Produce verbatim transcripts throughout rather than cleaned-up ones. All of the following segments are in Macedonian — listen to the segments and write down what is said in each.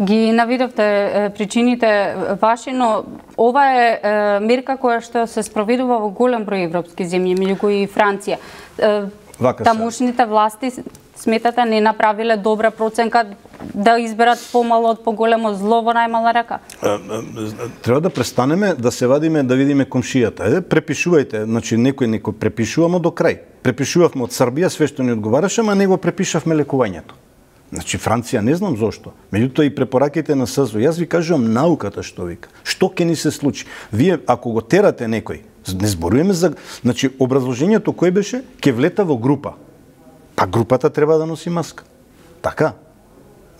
Ги наведовте причините ваши, но ова е мерка која што се спроведува во голем број европски земји, меѓу кои и Франција. Тамошните власти сметате не направиле добра проценка да изберат помало од поголемо зло во најмала рака? Треба да престанеме да се вадиме да видиме комшијата. Е, препишувајте, значи некој некој препишуваме до крај. Препишувавме од Србија све што ни одговараше, ама него препишавме лекувањето. Значи Франција не знам зошто. Меѓутоа и препораките на СЗО. Јас ви кажувам науката што вика. Што ќе ни се случи? Вие ако го терате некој, не зборуваме за, значи образложението кој беше, ќе влета во група. Па групата треба да носи маска. Така.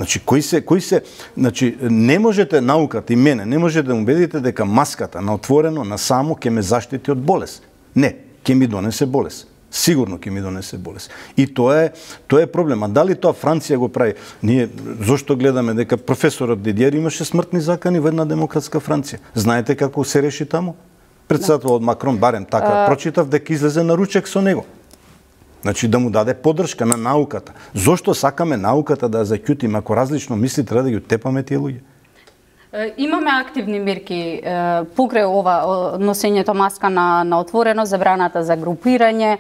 Значи кој се кој се, значи не можете науката и мене, не можете да му убедите дека маската на отворено, на само ќе ме заштити од болест. Не, ќе ми донесе болест. Сигурно ќе ми донесе болест. И тоа е тоа е проблем. А дали тоа Франција го прави? Ние зошто гледаме дека професорот Дидиер имаше смртни закани во една демократска Франција. Знаете како се реши таму? Председателот Макрон барем така прочитав дека излезе на ручек со него. Значи да му даде поддршка на науката. Зошто сакаме науката да ја заќутиме? Ако различно мисли, треба да ги утепаме тие луѓе. Имаме активни мерки покрај ова носењето маска на, на отворено, забраната за групирање,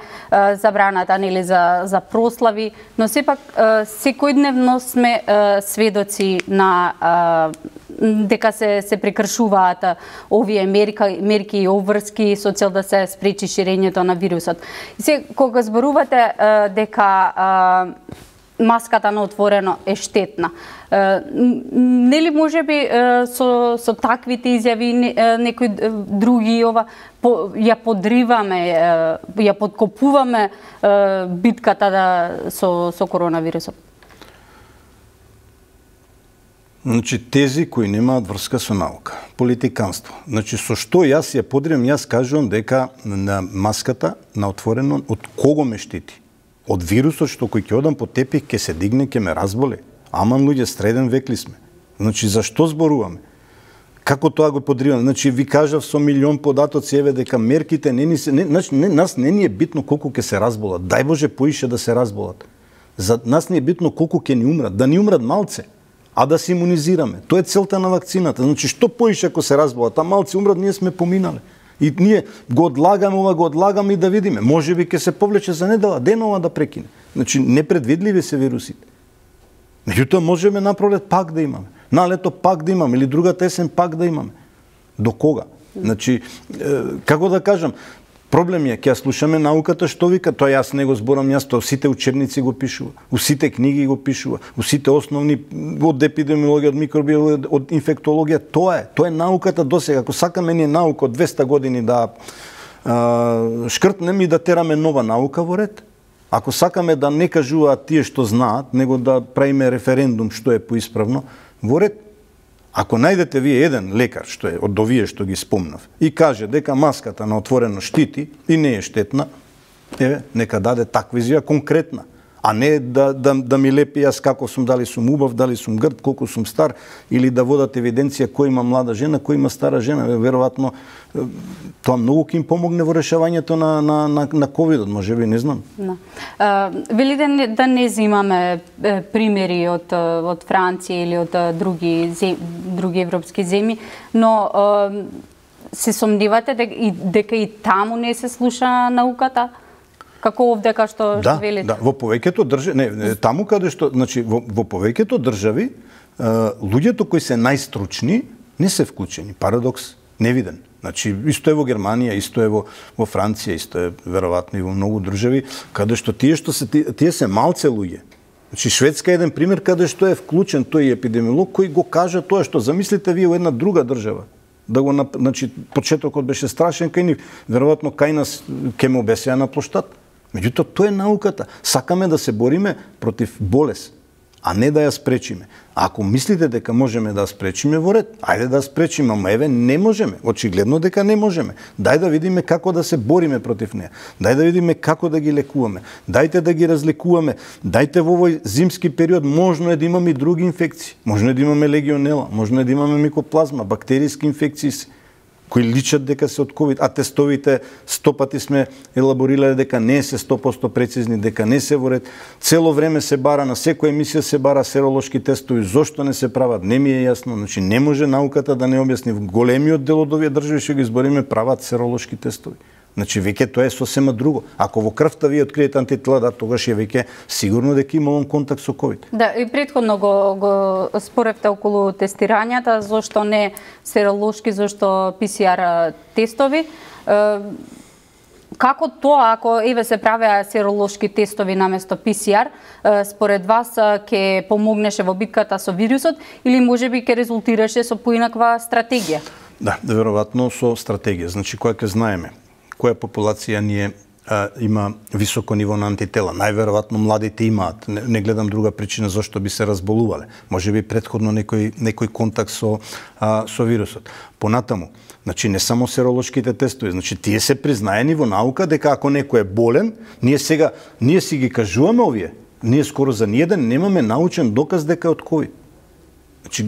забраната нели за за прослави, но сепак секојдневно сме сведоци на дека се се прекршуваат овие мерки, мерки и обврски со цел да се спречи ширењето на вирусот. И се кога зборувате дека маската на отворено е штетна. Нели можеби со со таквите изјави некои други ова по, ја подриваме, ја подкопуваме битката да со со коронавирусот? Значи тези кои немаат врска со наука, политиканство. Значи со што јас ја подривам, јас кажувам дека на маската на отворено од кого ме штити? Од вирусот што кој ќе одам по тепих ќе се дигне, ќе ме разболе. Аман луѓе, среден век ли сме? Значи зашто зборуваме? Како тоа го подриваме? Значи ви кажав со милион податоци еве дека мерките не ни се не, значи не, нас не ни е битно колку ќе се разболат. Дај Боже поише да се разболат. За нас не е битно колку ќе ни умрат, да ни умрат малце, а да се имунизираме. Тоа е целта на вакцината. Значи што поише ако се разболат, а малци умрат, ние сме поминале. И ние го одлагаме, ова го одлагаме и да видиме. Може би ќе се повлече за недела, денова да прекине. Значи непредвидливи се вирусите. Меѓутоа можеме на пролет пак да имаме. На лето пак да имаме или другата есен пак да имаме. До кога? Значи како да кажам, проблем е ќе ја слушаме науката што вика, тоа јас не го зборам јас, тоа сите учебници го пишува, у сите книги го пишува, у сите основни од епидемиологија, од микробиологија, од инфектологија, тоа е, тоа е науката досега. Ако сакаме ние наука од двеста години да а, шкртнеме и да тераме нова наука во ред. Ако сакаме да не кажуваат тие што знаат, него да правиме референдум што е поисправно, во ред. Ако најдете вие еден лекар, што е од овие што ги спомнав, и каже дека маската на отворено штити и не е штетна, еве, нека даде таква изјава конкретна, а не да, да, да ми лепи јас како сум, дали сум убав, дали сум грд, колку сум стар, или да водат евиденција кој има млада жена, кој има стара жена. Веројатно тоа многу ќе им помогне во решавањето на на на, на ковидот, можеби, не знам. Да. Велите да, да не земаме примери од од Франција или од други зем, други европски земји, но се сомневате дека и, дека и таму не се слуша науката? Како овде кај што да, велите? Да, во повеќето држави, не, не, таму каде што, значи во, во повеќето држави, луѓето кои се најстручни не се вклучени. Парадокс невиден. Значи исто е во Германија, исто е во во Франција, исто е веројатно и во многу држави каде што тие што се тие се малце луѓе. Значи Шведска е еден пример каде што е вклучен тој епидемиолог кој го кажа тоа што замислите вие во една друга држава. Да го, значи почетокот беше страшен кај нив, веројатно кај нас ќе ме обесеа на плоштад. Меѓутоа, тоа е науката. Сакаме да се бориме против болест, а не да ја спречиме. А ако мислите дека можеме да ја спречиме, во ред, ајде да ја спречиме, ама еве не можеме. Очигледно дека не можеме. Дај да видиме како да се бориме против неа. Дај да видиме како да ги лекуваме. Дајте да ги разликуваме. Дајте во овој зимски период можно е да имаме и други инфекции. Можно е да имаме легионела, можно е да имаме микоплазма, бактериски инфекции. кои личат дека се од ковид, а тестовите сто пати сме елаборирале дека не се сто проценти прецизни, дека не се во ред. Цело време се бара, на секоја емисија се бара серолошки тестови, зошто не се прават, не ми е јасно. Значи не може науката да не објасни. Големиот дел од овие држави што ги избориме прават серолошки тестови. Значи веќе тоа е сосема друго. Ако во крвта ви откриете антитела, да, тогаш е веќе сигурно дека имам контакт со ковид. Да, и претходно го, го споревте околу тестирањата, зошто не серолошки, зошто пи си ар тестови. Како тоа, ако еве се правеа серолошки тестови наместо пи си ар, според вас ќе помогнеше во битката со вирусот или можеби ќе резултираше со поинаква стратегија? Да, веројатно со стратегија. Значи која ќе знаеме која популација ни е а, има високо ниво на антитела. Најверојатно младите имаат. Не, не гледам друга причина зашто би се разболувале. Може би претходно некој некој контакт со а, со вирусот. Понатаму, значи не само серолошките тестови, значи тие се признаени во наука дека ако некој е болен, ние сега ние си ги кажуваме овие. Ние скоро за ниеден немаме научен доказ дека е од ковид. Значи,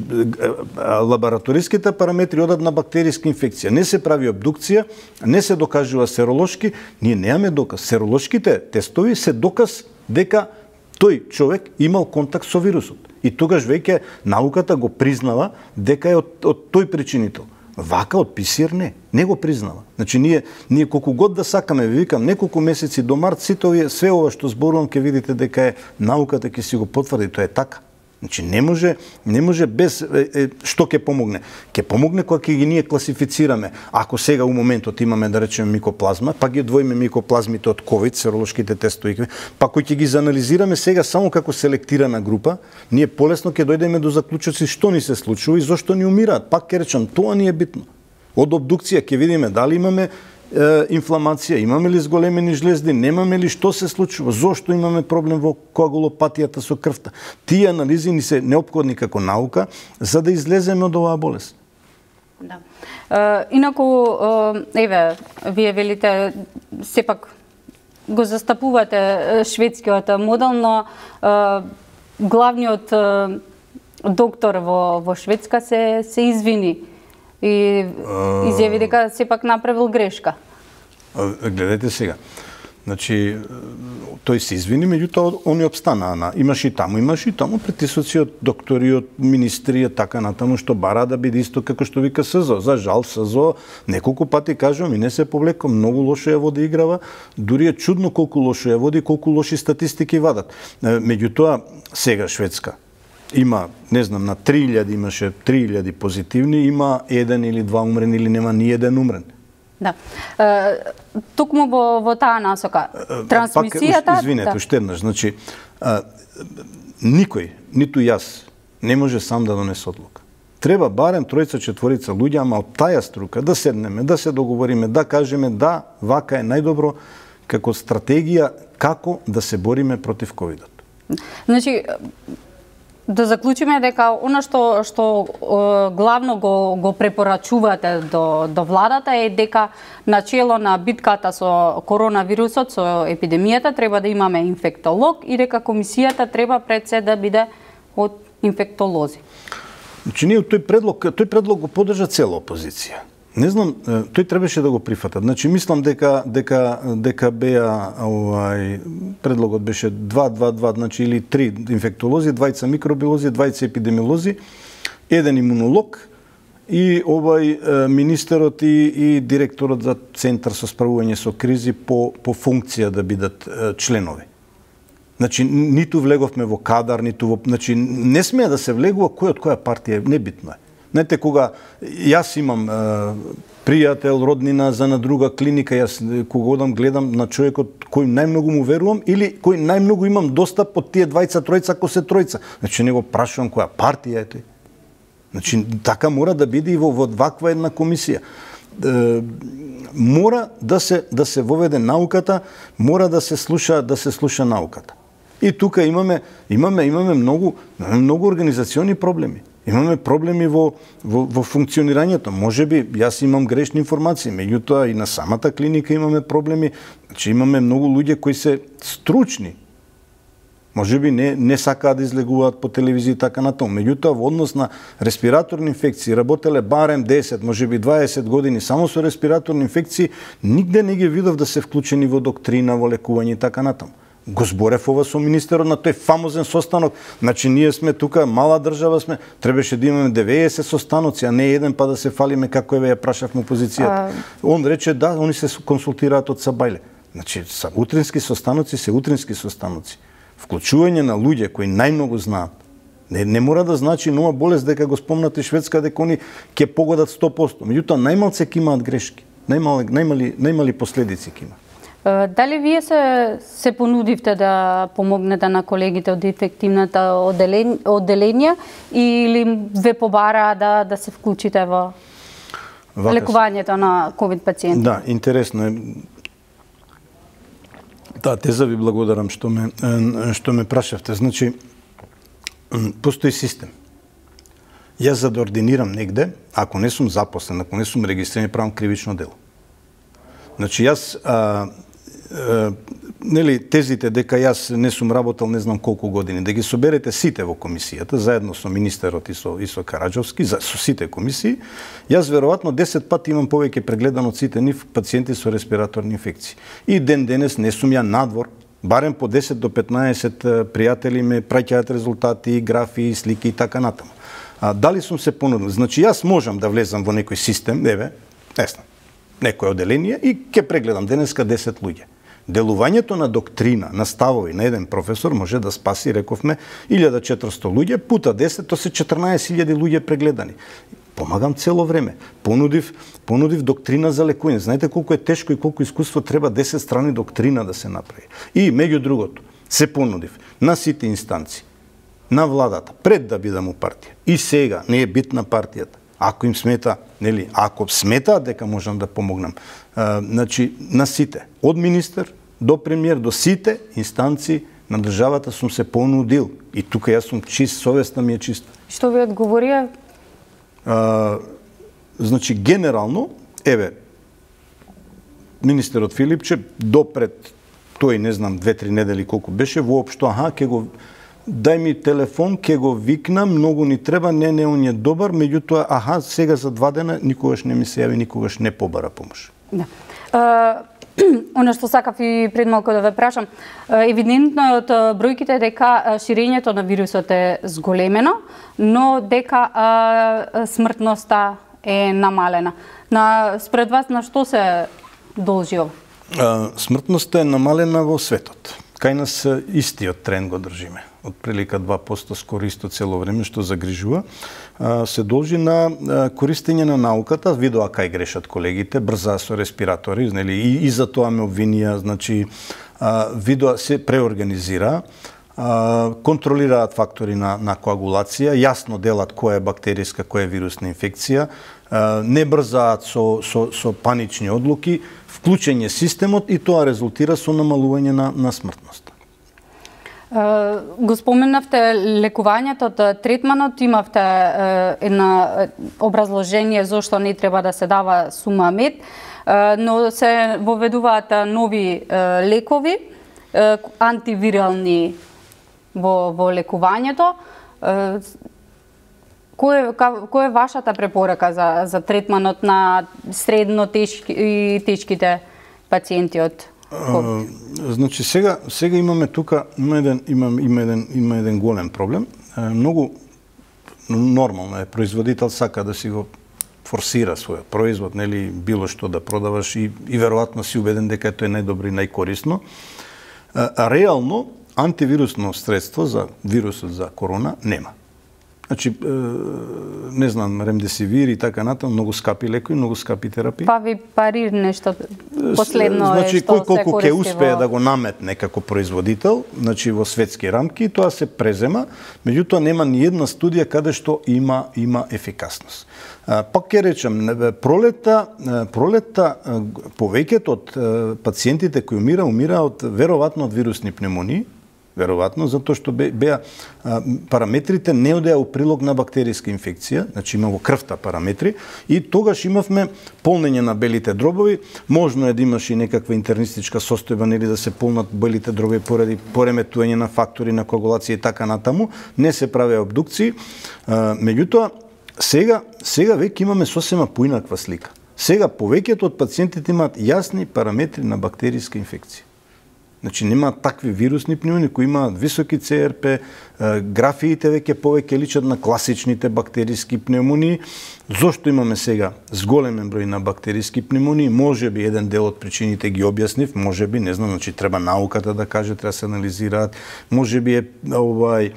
лабораториските параметри одат на бактериска инфекција. Не се прави обдукција, не се докажува серолошки, ние немаме доказ. Серолошките тестови се доказ дека тој човек имал контакт со вирусот. И тогаш веќе науката го признава дека е од, од тој причинител. Вака од пи си ар не, не го признава. Значи ние ние колку год да сакаме, ви викам, неколку месеци до март, сите овие све ова што зборувам ќе видите дека е науката ќе си го потврди, тоа е така. Значи не може, не може без е, е, што ќе помогне. Ќе помогне кога ќе ги ние класифицираме. Ако сега у моментот имаме да речеме микоплазма, па ги одвоиме микоплазмите од ковид, серолошките тестови, па кои ќе ги заанализираме сега само како селектирана група, ние полесно ќе дојдеме до заклучоци што ни се случува и зошто ни умираат. Пак ќе речам, тоа ни е битно. Од обдукција ќе видиме дали имаме инфламација, имаме ли зголемени жлезди, немаме ли, што се случува, зошто имаме проблем во коагулопатијата со крвта. Тие анализи ни се неопходни како наука за да излеземе од оваа болест. Да. Uh, инаку, uh, еве, вие велите, сепак го застапувате шведскиот модел, но uh, главниот uh, доктор во, во Шведска се, се извини и изјави дека сепак направил грешка. Гледайте сега. Значи, тој се извини, меѓутоа они обстана. На. Имаш и таму, имаш и таму притисоци од доктори, од министри, така натаму, што бара да биде исто како што вика СЗО. За жал, СЗО неколку пати кажувам и не се повлеко, многу лошо ја води играва, дури е чудно колку лошо ја води, колку лоши статистики вадат. Меѓутоа, сега Шведска има, не знам, на три илјади имаше три илјади позитивни, има еден или два умрени или нема ни еден умрен. Да. Е, токму во, во таа насока, трансмисијата... Пак, извинете, да. уште еднаш, значи, а, никој, ниту јас, не може сам да донесе одлука. Треба барем тројца, четворица луѓе, ама од таја струка, да седнеме, да се договориме, да кажеме, да, вака е најдобро како стратегија како да се бориме против ковидот. Значи, да заклучиме дека она што што е, главно го го препорачувате до до владата е дека начело на битката со коронавирусот, со епидемијата треба да имаме инфектолог и дека комисијата треба пред се да биде од инфектолози. Значи ние тој предлог, тој предлог го поддржа цела опозиција. Не знам, тој требаше да го прифатат. Значи мислам дека дека дека беа овај предлогот беше два два два, значи или три инфектолози, двајца микробиолози, двајца епидемиолози, еден имунолог и овај министерот и, и директорот за центар со справување со кризи по по функција да бидат членови. Значи ниту влеговме во кадар, ниту во, значи не смее да се влегува кој од која партија, небитно е. Знаете, кога јас имам е, пријател, роднина за на друга клиника, јас кога одам гледам на човекот кој најмногу му верувам или кој најмногу имам достап од тие двајца, тројца, ако се тројца. Значи не го прашувам која партија е тој. Значи така мора да биде и во, во ваква една комисија. Е, мора да се да се воведе науката, мора да се слуша да се слуша науката. И тука имаме имаме имаме многу многу организациони проблеми. Имаме проблеми во, во, во функционирањето. Може би, јас имам грешни информации, меѓутоа и на самата клиника имаме проблеми. Значи, имаме многу луѓе кои се стручни. Може би не, не сакаат да излегуваат по телевизија и така натаму. Меѓутоа, во однос на респираторни инфекции, работеле барем десет, може би дваесет години само со респираторни инфекции, нигде не ги видов да се вклучени во доктрина, во лекување и така натаму. Го зборев ова со министерот на тој фамозен состанок. Значи, ние сме тука, мала држава сме, требаше да имаме деветесет состаноци, а не еден па да се фалиме како еве ја прашавме опозицијата. А... Он рече да, они се консултираат од Сабајле. Значи, са утрински состаноци се утрински состаноци. Вклучување на луѓе кои најмногу знаат. Не, не мора да значи нова болест дека го спомнате Шведска дека они ќе погодат сто проценти. Меѓутоа најмалце ќе имаат грешки. Најмали најмали најмали последици ќе има. Дали вие се се понудивте да помогнете на колегите од инфективната одделенија или ве побара да да се вклучите во Вака лекувањето на ковид пациенти? Да, интересно е. Да, теза ви благодарам што ме што ме прашавте. Значи, постои систем. Јас за да ординирам негде, ако не сум запослен, ако не сум регистриран, правам кривично дело. Значи, јас а, а, нели тезите дека јас не сум работел не знам колку години, да ги соберете сите во комисијата, заедно со министерот и со, и со Караџовски, за, со сите комисии, јас веројатно десет пати имам повеќе прегледан од сите нив пациенти со респираторни инфекции. И ден денес не сум ја надвор, барем по десет до петнаесет пријатели ме праќаат резултати, графи, слики и така натаму. А, дали сум се понудил? Значи, јас можам да влезам во некој систем, еве, не знам, некој одделение и ќе прегледам денеска десет луѓе. Делувањето на доктрина, на ставови на еден професор може да спаси, рековме, илјада и четиристотини луѓе, пута десет, то се четрнаесет илјади луѓе прегледани. Помагам цело време. Понудив, понудив доктрина за лекување. Знаете колку е тешко и колку искуство треба десет страни доктрина да се направи. И меѓу другото, се понудив на сите инстанции, на владата, пред да бидам у партија. И сега не е битна партијата. Ако им смета, нели, ако сметаат дека можам да помогнам, а, значи на сите, од министер до премиер, до сите инстанции на државата сум се понудил. И тука јас сум чист, совеста ми е чиста. Што ви одговорија? А, значи, генерално, еве, министерот Филипче, допред тој, не знам, две-три недели колку беше, воопшто, аха, ке го дај ми телефон, ке го викнам, многу ни треба, не, не, он е добар, меѓутоа, аха, сега за два дена никогаш не ми се јави, никогаш не побара помош. Да. Uh... Оно што сакав и пред малку да ве прашам, евидентно е од бројките дека ширењето на вирусот е зголемено, но дека а, смртноста е намалена. На, спред вас на што се должи ова? Смртноста е намалена во светот. Кај нас истиот тренд го држиме. Од прилика два проценти скоро исто цело време, што загрижува, се должи на користење на науката, видоа кај грешат колегите, брза со респиратори, нели, и, и за тоа ме обвинија, значи, видоа се преорганизира, контролираат фактори на, на коагулација, јасно делат која е бактериска, која е вирусна инфекција, не брзаат со, со, со панични одлуки, вклучење системот и тоа резултира со намалување на, на смртност. Го споменавте лекувањето, третманот, имавте една образложение зошто не треба да се дава сумамед, но се воведуваат нови лекови, антивирални во, во лекувањето. Кој, кој е вашата препорака за, за третманот на средно тешки и тешките пациенти од COVID? Значи сега сега имаме тука има еден има има еден има еден голем проблем. Многу нормално е производител сака да си го форсира својот производ, нели, било што да продаваш и и веројатно си убеден дека тоа е најдобро и најкорисно. А реално антивирусно средство за вирусот за корона нема. Значи, не знам, ремдесивир и така натаму, многу скапи лекови, многу скапи терапии. Фавипарир нешто последно значи, е што кој колку се ќе успее во... да го наметне како производител, значи во светски рамки, тоа се презема, меѓутоа нема ни една студија каде што има има ефикасност. Пак ќе речем, пролета, пролета повеќето од пациентите кои умира, умира од веројатно од вирусни пневмонии, веројатно, затоа што беа параметрите не одеа у прилог на бактериска инфекција, значи има во крвта параметри, и тогаш имавме полнење на белите дробови, можно е да имаш и некаква интернистичка состојба, нели да се полнат белите дробови поради пореметување на фактори на коагулација и така натаму, не се правеа обдукции, меѓутоа сега сега веќе имаме сосема поинаква слика. Сега повеќето од пациентите имаат јасни параметри на бактериска инфекција. Значи нема такви вирусни пневмонии кои имаат високи Це Ер Пе, графиите веќе повеќе личат на класичните бактериски пневмонии. Зошто имаме сега зголемен број на бактериски пневмонии? Можеби еден дел од причините ги објаснив, можеби, не знам, значи треба науката да каже, треба се анализираат. Можеби е овај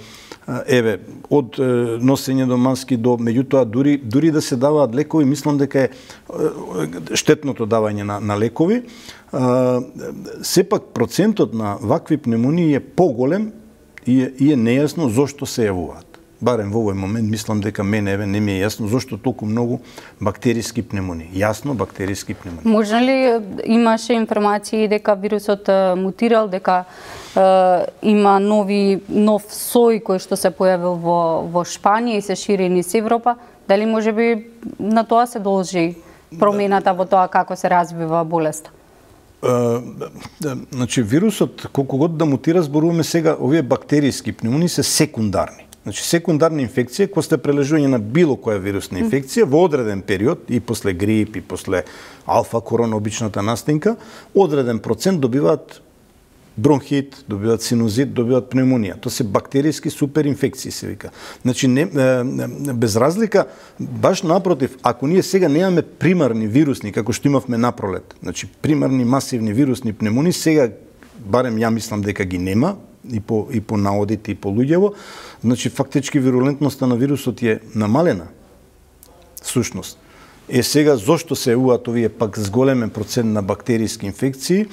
еве од носење до маски до, меѓутоа дури дури да се даваат лекови, мислам дека е штетното давање на, на лекови. А, сепак процентот на вакви пневмонии е поголем и е, и е нејасно зошто се јавуваат. Барем во овој момент мислам дека мене еве не ми е јасно зошто толку многу бактериски пневмонии. Јасно бактериски пневмонии. Може ли имаше информации дека вирусот мутирал, дека е, има нови нов сој кој што се појавил во во Шпанија и се шири низ Европа? Дали можеби на тоа се должи промената во тоа како се развива болеста? Uh, значи вирусот колку год да мутира, зборуваме сега, овие бактериски пневмонии се секундарни. Значи секундарна инфекција која сте прележување на било која вирусна инфекција во одреден период и после грип и после алфа корона обичната настинка, одреден процент добиваат бронхит, добиваат синузит, добиваат пневмонија. Тоа се бактериски суперинфекции се вика. Значи не, без разлика, баш напротив, ако ние сега немаме примарни вирусни како што имавме напролет, значи примарни масивни вирусни пневмонии, сега барем ја мислам дека ги нема и по и по наодите и по луѓево, значи фактички вирулентноста на вирусот е намалена. Сушност. Е сега зошто се јавуваат овие пак зголемен процент на бактериски инфекции?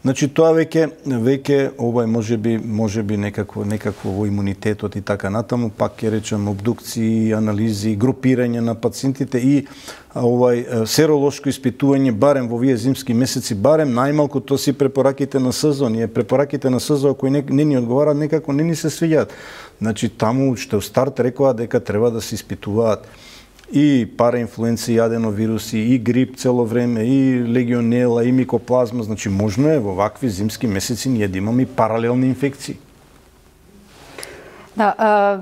Значи тоа веќе веќе овај можеби можеби некакво некакво во имунитетот и така натаму, пак ќе речем обдукции, анализи, групирање на пациентите и овај серолошко испитување барем во овие зимски месеци, барем најмалку тоа си препораките на СЗО. Ние препораките на СЗО кои не, не ни одговараат, некако не ни се свиѓаат. Значи таму што в старт рекоа дека треба да се испитуваат и параинфлуенци, и аденовируси, и грип цело време, и легионела, и микоплазма. Значи, можно е во вакви зимски месеци ние да имаме и паралелни инфекции. Да, а,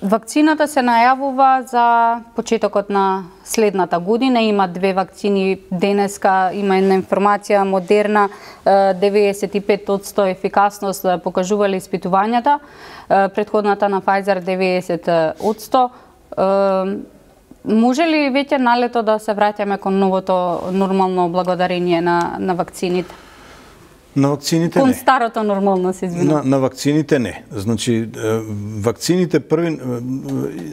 вакцината се најавува за почетокот на следната година. Има две вакцини денеска, има една информација Модерна, деветдесет и пет одсто ефикасност покажувале испитувањата, претходната на Pfizer деветдесет одсто. Uh, може ли веќе налето да се враќаме кон новото нормално благодарение на, на вакцините? На вакцините кон не. Кон старото нормално, се извинувам. На, на вакцините не. Значи, вакцините први,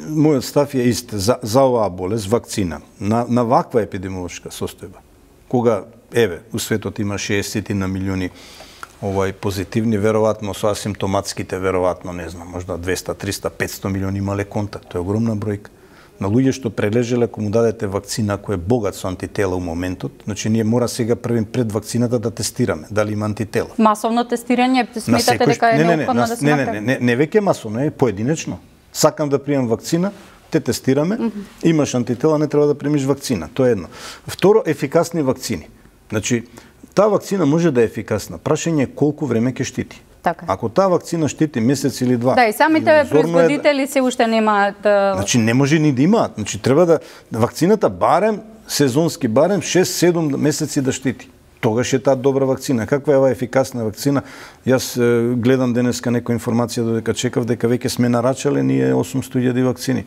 мојот став е ист за, за оваа болест, вакцина, на, на ваква епидемиолошка состојба, кога, еве, у светот има шеесет на милиони овај позитивни, веројатно со асимптоматските, веројатно, не знам, можда двеста, триста, петсто милиони имале контакт. Тоа е огромна бројка. На луѓе што прележеле, ако му дадете вакцина кој е богат со антитела у моментот, значи ние мора сега првим пред вакцината да тестираме дали има антитела. Масовно тестирање, сметате дека е неопходно да се направи? Не, не, не, не, не веќе масовно, е поединечно. Сакам да приемам вакцина, те тестираме, mm -hmm. имаш антитела, не треба да примиш вакцина. Тоа е едно. Второ, ефикасни вакцини. Значи, таа вакцина може да е ефикасна. Прашање е колку време ќе штити. Така. Ако таа вакцина штити месец или два. Да, и самите производители се уште немаат. Значи не може ни да имаат. Значи треба да вакцината барем сезонски барем шест седум месеци да штити. Тогаш е таа добра вакцина. Каква е оваа ефикасна вакцина? Јас гледам денеска некоја информација додека чекав дека веќе сме нарачале ние осумсто илјади вакцини.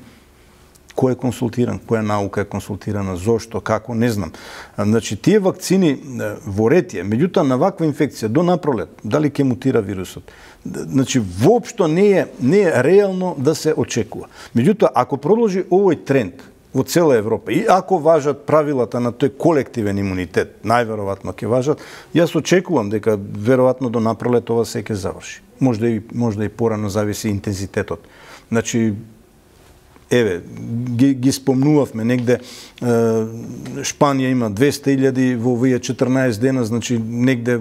Кој е консултиран, која наука е консултирана, зошто, како, не знам. Значи, тие вакцини во ред е, меѓутоа на ваква инфекција до напролет, дали ќе мутира вирусот, значи, воопшто не е, не е реално да се очекува. Меѓутоа, ако продолжи овој тренд во цела Европа и ако важат правилата на тој колективен имунитет, најверојатно ќе важат, јас очекувам дека веројатно до напролет ова се ќе заврши. Можда и, можда и порано зависи интензитетот. Значи, еве, ги, ги спомнувавме негде, е, Шпанија има двесте илјади во овие четрнаесет дена, значи негде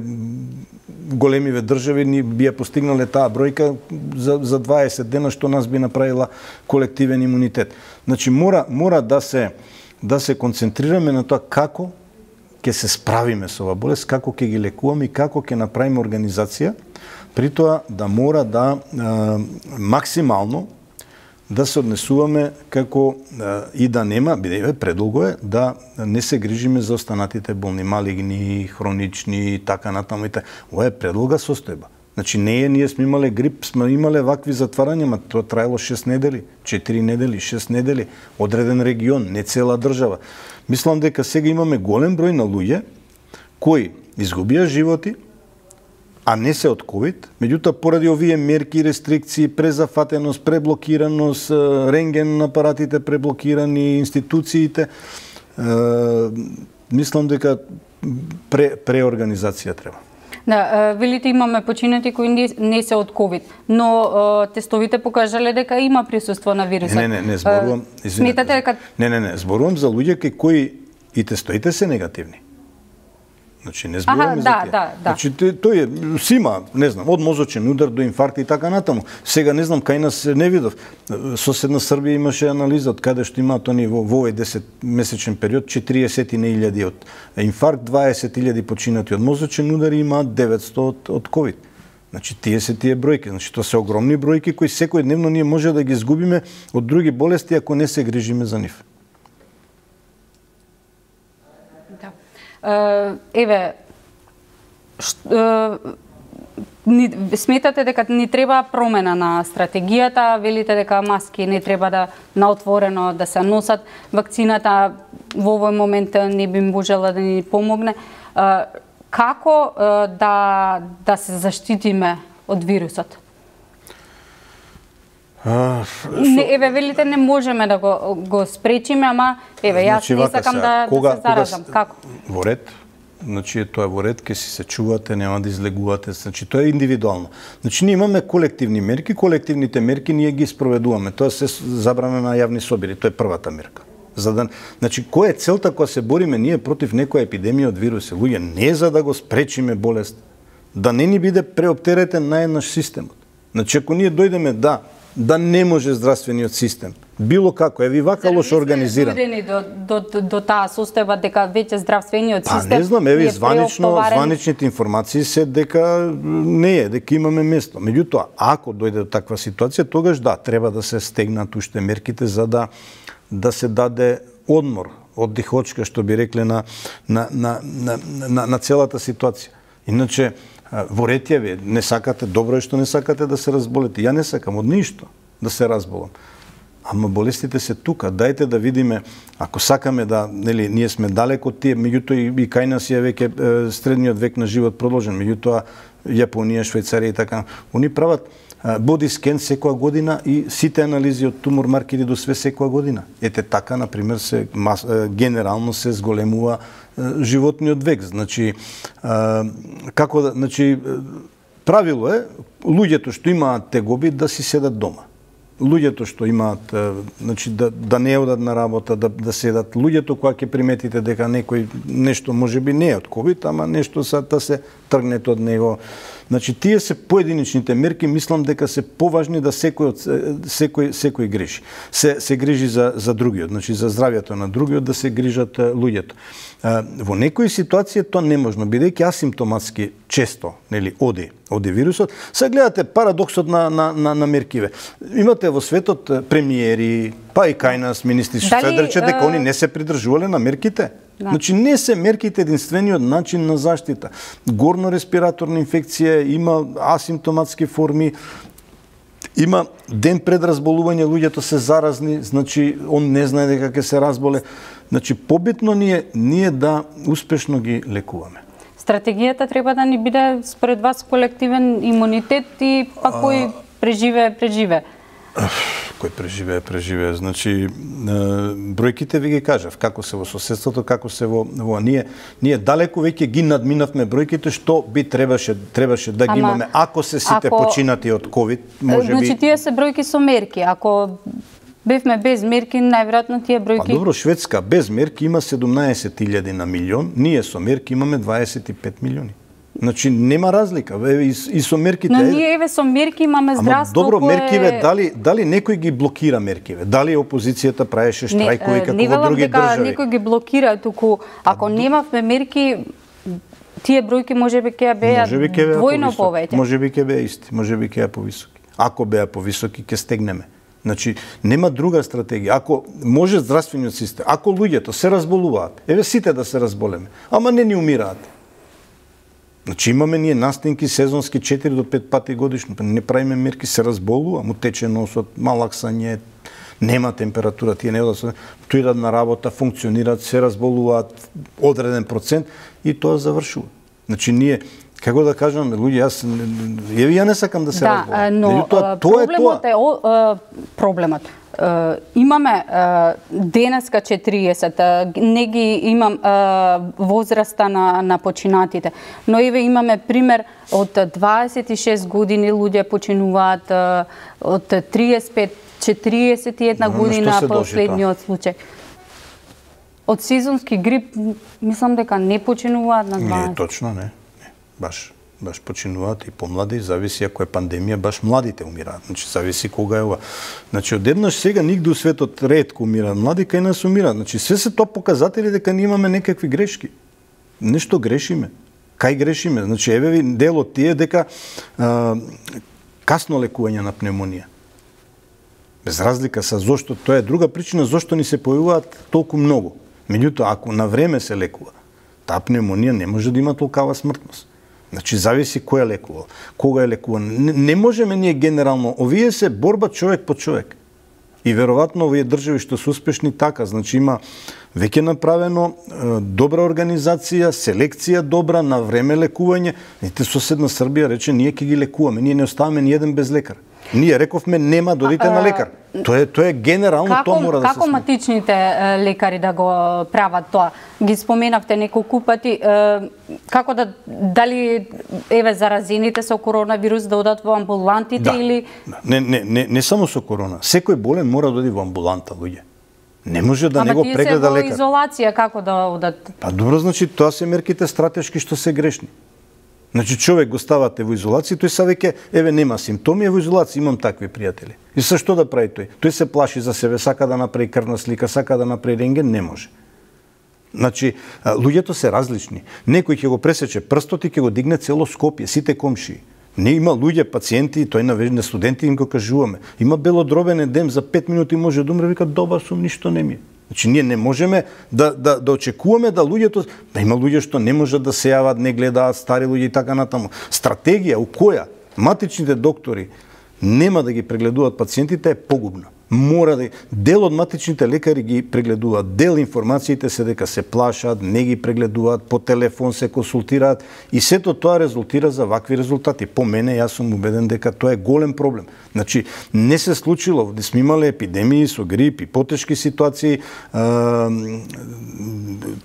големиве држави ни би ја постигнале таа бројка за, за дваесет дена, што нас би направила колективен имунитет. Значи мора мора да се да се концентрираме на тоа како ќе се справиме со оваа болест, како ќе ги лекуваме и како ќе направиме организација, при тоа да мора да е, максимално да се однесуваме како и да нема, бидејќи предолго е, да не се грижиме за останатите болни, малигни, хронични и така натаму. Ова е предолга состојба. Значи не е, ние сме имале грип, сме имале вакви затварања, ма тоа траело шест недели, четири недели, шест недели, одреден регион, не цела држава. Мислам дека сега имаме голем број на луѓе кои изгубија животи, а не се од ковид, меѓутоа поради овие мерки, рестрикции, презафатеност, преблокираност, рентген апаратите преблокирани, институциите, е, мислам дека пре, преорганизација треба. Да, велите имаме починати кои не, не се од ковид, но тестовите покажале дека има присуство на вирусот. Не, не, не, зборувам, извинете. Сметате дека Не, не, не, зборувам за луѓе кои и тестоите се негативни. Значи не зборуваме за да, тие. да, да. Значи тој е си има, не знам, од мозочен удар до инфаркт и така натаму. Сега не знам кај нас не видов. Соседна Србија имаше анализа од каде што имаат они во овој десет месечен период четириесет илјади од инфаркт, дваесет илјади починати од мозочен удар и имаат деветсто од, од ковид. Значи тие се тие бројки, значи тоа се огромни бројки кои секојдневно ние може да ги изгубиме од други болести ако не се грижиме за нив. Еве, ни, сметате дека ни треба промена на стратегијата, велите дека маски не треба да наотворено да се носат, вакцината во овој момент не би можела да ни помогне. Како да, да се заштитиме од вирусот? А, не, еве, велите не можеме да го, го спречиме, ама еве, јас значи, не сакам да, кога, да се заразам. Кога, Како? Во ред, значи тоа во ред, ке си се чувате, нема да излегувате, значи тоа е индивидуално. Значи ние имаме колективни мерки, колективните мерки ние ги спроведуваме. Тоа се забрана на јавни собери, тоа е првата мерка. За да, значи која е целта кога се бориме ние против некоја епидемија од вируси? Луѓе, не за да го спречиме болест, да не ни биде преоптеретен наеднаш системот. Значи ако ние дојдеме да да не може здравствениот систем било како, еви вака лошо организиран. До, до, до, до таа состојба дека веќе здравствениот систем. Па не знам, еви званично, званичните информации се дека не е, дека имаме место. Меѓутоа, ако дојде до таква ситуација, тогаш да, треба да се стегнат уште мерките за да да се даде одмор, оддихочка, што би рекле на на на на, на, на целата ситуација. Иначе во ред е, вие не сакате, добро е што не сакате да се разболете. Ја не сакам од ништо да се разболам. Ама болестите се тука. Дајте да видиме, ако сакаме да, нели, ние сме далеко од тие, меѓутоа и, и кај нас е веќе средниот век на живот продолжен, меѓутоа Јапонија, Швајцарија и така. Они прават боди скен секоја година и сите анализи од тумор маркери до све секоја година. Ете така, например, се мас, генерално се зголемува животниот век. Значи, како да, значи, правило е луѓето што имаат тегоби да си седат дома. Луѓето што имаат, значи, да, да не одат на работа, да, да седат. Луѓето кога ќе приметите дека некој нешто можеби не е од ковид, ама нешто са да се тргнете од него. Значи тие се поединечните мерки, мислам дека се поважни да секој секој секој грижи. Се се грижи за за другиот, значи за здравјето на другиот да се грижат луѓето. Во некои ситуации тоа неможно, бидејќи асимптоматски често, нели, оди оди вирусот. Се гледате парадоксот на на на, на меркиве. Имате во светот премиери, па и кај нас министри што се рече дека они не се придржувале на мерките. Да. Значи не се мерките единствениот начин на заштита. Горно-респираторна инфекција, има асимптоматски форми, има ден пред разболување, луѓето се заразни, значи он не знае дека ќе се разболе. Значи побитно ни е ние да успешно ги лекуваме. Стратегијата треба да ни биде според вас колективен имунитет и па кој преживее, преживее. Кој преживее, преживее. Значи, бројките ви ги кажав, како се во соседството, како се во, во ние, ние далеко веќе ги надминавме бројките што би требаше требаше да ги Ама, имаме ако се сите ако, починати од ковид, можеби. Значи тие се бројки со мерки. Ако бевме без мерки, најверојатно тие бројки. Па добро, Шведска без мерки има седумнаесет илјади на милион, ние со мерки имаме дваесет и пет милиони. Значи нема разлика. Еве и, и со мерките. Но ние еве со мерки имаме здравство. Ама добро, кое... меркиве дали дали некој ги блокира меркиве? Дали опозицијата правеше штрајкови како во други држави? Не, некој ги блокира, туку ако немавме мерки, тие бројки можеби ќе беа двојно повеќе. Можеби ќе беа исти, можеби ќе беа повисоки. Ако беа повисоки, ќе стегнеме. Значи, нема друга стратегија. Ако може здравствениот систем, ако луѓето се разболуваат, еве сите да се разболеме, ама не ни умираат. Значи, имаме ние настинки сезонски четири до пет пати годишно, не правиме мерки, се разболува, му тече носот, малаксање, нема температура, тие не одат, тојдат на работа, функционираат, се разболуваат одреден процент и тоа завршува. Значи, ние како да кажам, луѓе, јас еве ја не сакам да се да, разболам. Но тоа, тоа проблемот е, тоа. е проблемот. Uh, имаме uh, денеска четириесет, uh, не ги имам uh, возраста на, на починатите, но еве имаме пример од дваесет и шест години луѓе починуваат, uh, од триесет и пет четириесет и една но, година последниот случај. Од сезонски грип, мислам дека не починуваат на дваесет. Не, точно не. не. Баш. Баш починуваат и помлади, зависи ако е пандемија, баш младите умираат. Значи, зависи кога е ова. Значи, одеднаш сега нигде у светот ретко умираат млади, кај нас умираат. Значи, све се тоа показатели дека ние имаме некакви грешки. Нешто грешиме. Кај грешиме? Значи, еве ви дел од тие дека а, касно лекување на пневмонија. Без разлика са зошто, тоа е друга причина зошто ни се појавуваат толку многу. Меѓутоа, ако на време се лекува, таа пневмонија не може да има толкава смртност. Значи, зависи кој е лекувал, кога е лекуван. Не, не можеме ние генерално, овие се борба човек по човек. И веројатно овие држави што се успешни така, значи има веќе направено е, добра организација, селекција добра, на време лекување. Ете, соседна Србија рече, ние ќе ги лекуваме, ние не оставаме ни еден без лекар. Ние рековме нема, додите на лекар. Тоа е тоа е генерално, како, тоа мора да се Како матичните лекари да го прават тоа? Ги споменавте неколку пати, како да, дали еве заразените со коронавирус да одат во амбулантите да, или да. Не, не, не, не само со корона. Секој болен мора да оди во амбуланта, луѓе. Не може да не го прегледа лекар. Ама лекар. тие се во изолација, како да одат? Па добро, значи тоа се мерките стратешки што се грешни. Значи човек го ставате во изолација, тој са веќе еве нема симптоми, е во изолација, имам такви пријатели. И со што да прави тој? Тој се плаши за себе, сака да направи крвна слика, сака да направи рентген, не може. Значи луѓето се различни. Некој ќе го пресече прстот и ќе го дигне цело Скопје, сите комшии. Не има луѓе, пациенти, тој на на студенти им го кажуваме. Има белодробен едем за пет минути може да умре, вика добар сум, ништо не ми е. Значи, ние не можеме да, да, да очекуваме да луѓето... Да има луѓе што не можат да се јават, не гледаат, стари луѓе и така натаму. Стратегија у која матичните доктори нема да ги прегледуваат пациентите е погубна. Мора да... Дел од матичните лекари ги прегледуваат, дел информациите се дека се плашат, не ги прегледуваат, по телефон се консултираат и сето тоа резултира за вакви резултати. По мене, јас сум убеден дека тоа е голем проблем. Значи, не се случило, да сме имале епидемии со грип и потешки ситуации,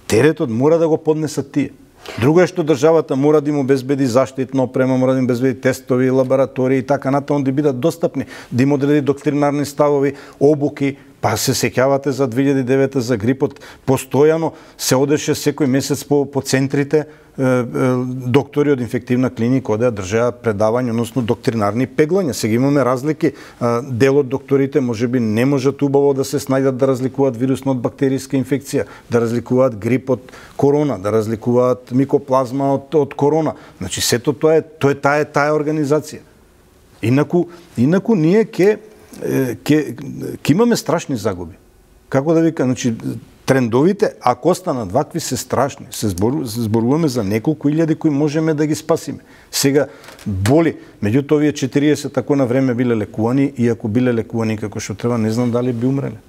теретот мора да го поднесат тие. Друго е што државата мора да им обезбеди заштитна опрема, мора да им обезбеди тестови, лаборатории и така натаму да бидат достапни, да им одреди доктринарни ставови, обуки. Па се сеќавате за две илјади и девета за грипот, постојано се одеше секој месец по, по центрите, е, е, доктори од инфективна клиника одеа држаа предавања, односно доктринарни пеглања. Сега имаме разлики. Дел од докторите можеби не можат убаво да се снајдат да разликуваат вирусна од бактериска инфекција, да разликуваат грип од корона, да разликуваат микоплазма од, од корона. Значи сето тоа е, тоа е таа е таа организација. Инаку, инаку ние ќе ќе ќе имаме страшни загуби. Како да вика, значи трендовите, ако останат вакви, се страшни. Се, збору, се зборуваме за неколку илјади кои можеме да ги спасиме. Сега боли, меѓутоа овие четириесет ако на време биле лекувани и ако биле лекувани како што треба, не знам дали би умреле.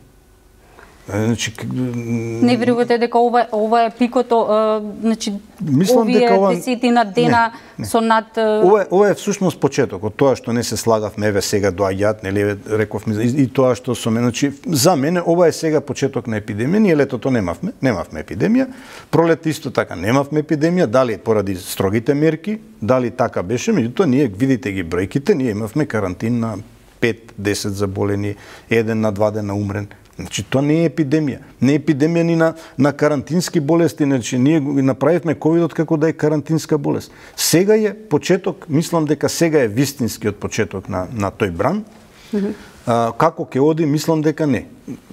Значи, не верувате дека ова ова е пикото, значи мислам овие дека ова десетина дена не, не. со над ова ова е всушност почетокот, тоа што не се слагавме еве сега доаѓаат, нели рековме и, и тоа што со мене, значи за мене ова е сега почеток на епидемија. Ние летото немавме, немавме епидемија, пролет исто така немавме епидемија, дали поради строгите мерки, дали така беше, меѓутоа ние видите ги бројките, ние имавме карантин на пет до десет заболени, еден на два дена умрен. Значи, тоа не е епидемија. Не е епидемија ни на, на карантински болести. Значи, ние направивме ковидот како да е карантинска болест. Сега е почеток, мислам дека сега е вистинскиот почеток на, на тој бран. Mm-hmm. а, како ќе оди, мислам дека не.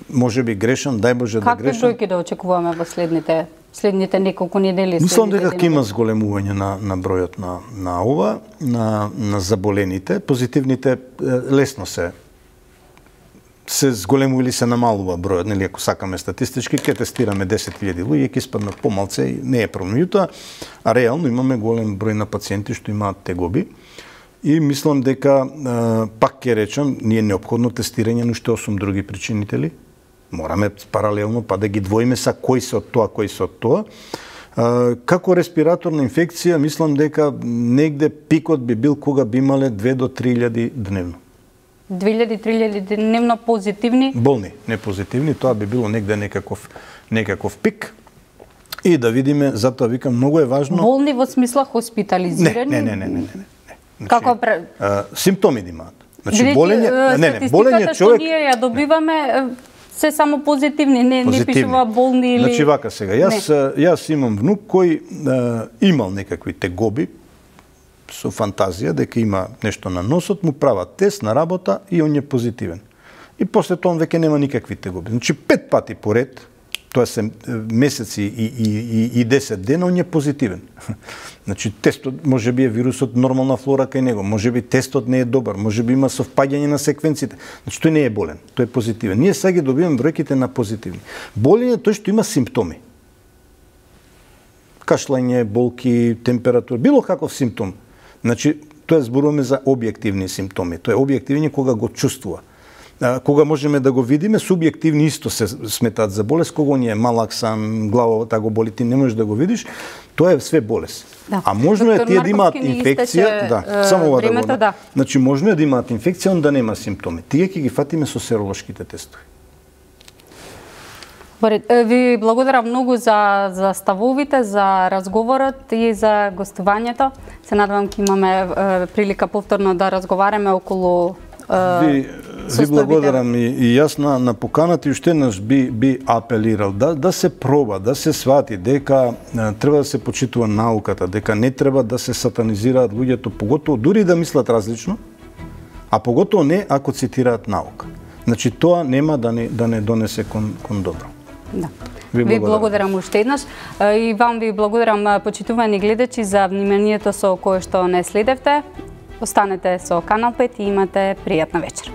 Може би грешам, дај Боже да грешам. Какви бројки да очекуваме во следните следните неколку недели? Мислам дека ќе има зголемување на, на бројот на, на ова, на, на заболените. Позитивните лесно се се зголемува или се намалува бројот, нели, ако сакаме статистички, ќе тестираме десет илјади луѓе, ќе испаднат помалце и не е проблем. Меѓутоа, а реално имаме голем број на пациенти што имаат тегоби и мислам дека пак ќе речам, ние неопходно тестирање на уште осум други причинители. Мораме паралелно па да ги двоиме са кои се од тоа, кои се од тоа. Како респираторна инфекција, мислам дека негде пикот би бил кога би имале две до три илјади дневно. две илјади до три илјади дневно позитивни? Болни, не позитивни, тоа би било негде некаков, некаков пик. И да видиме, затоа викам, многу е важно... Болни во смисла хоспитализирани? Не, не, не, не, не, не. Значи, како пре... а, симптоми да имаат. Значи, Бидејќи, болење, не, не, болење човек... Статистиката што ние ја добиваме, се само позитивни, не, не пишува болни или... Значи, вака сега, јас, јас имам внук кој а, имал некакви тегоби, со фантазија дека има нешто на носот, му прават тест на работа и он е позитивен. И после тоа он веќе нема никакви тегоби. Значи пет пати поред, тоа се месеци и, и, и, и десет дена, он е позитивен. Значи тестот, може би е вирусот нормална флора кај него, може би тестот не е добар, може би има совпаѓање на секвенците. Значи тој не е болен, тој е позитивен. Ние сега ги добиваме бројките на позитивни. Болен е тој што има симптоми. Кашлање, болки, температура, било каков симптом. Значи, тоа зборуваме за објективни симптоми. Тоа е објективни кога го чувствува. А, кога можеме да го видиме, субјективни исто се сметаат за болест, кога ни е малак сан, главата го боли, ти не можеш да го видиш, тоа е све болест. Да. А можно е тие да имаат инфекција, истече, да, само ова да го. Да. Значи можно е да имаат инфекција, он да нема симптоми. Тие ќе ги фатиме со серолошките тестови. Ви благодарам многу за, за ставовите, за разговорот и за гостувањето. Се надевам ќе имаме е, прилика повторно да разговараме околу е, ви, ви благодарам и, и јас на, на поканата и уште еднаш би, би апелирал да, да се проба, да се свати дека е, треба да се почитува науката, дека не треба да се сатанизираат луѓето, поготово дури да мислат различно, а поготово не ако цитираат наука. Значи тоа нема да не, да не донесе кон, кон добро. Да. Ви благодарам. ви благодарам уште еднаш и вам ви благодарам, почитувани гледачи, за вниманието со кое што не следевте. Останете со Канал пет и имате пријатна вечер.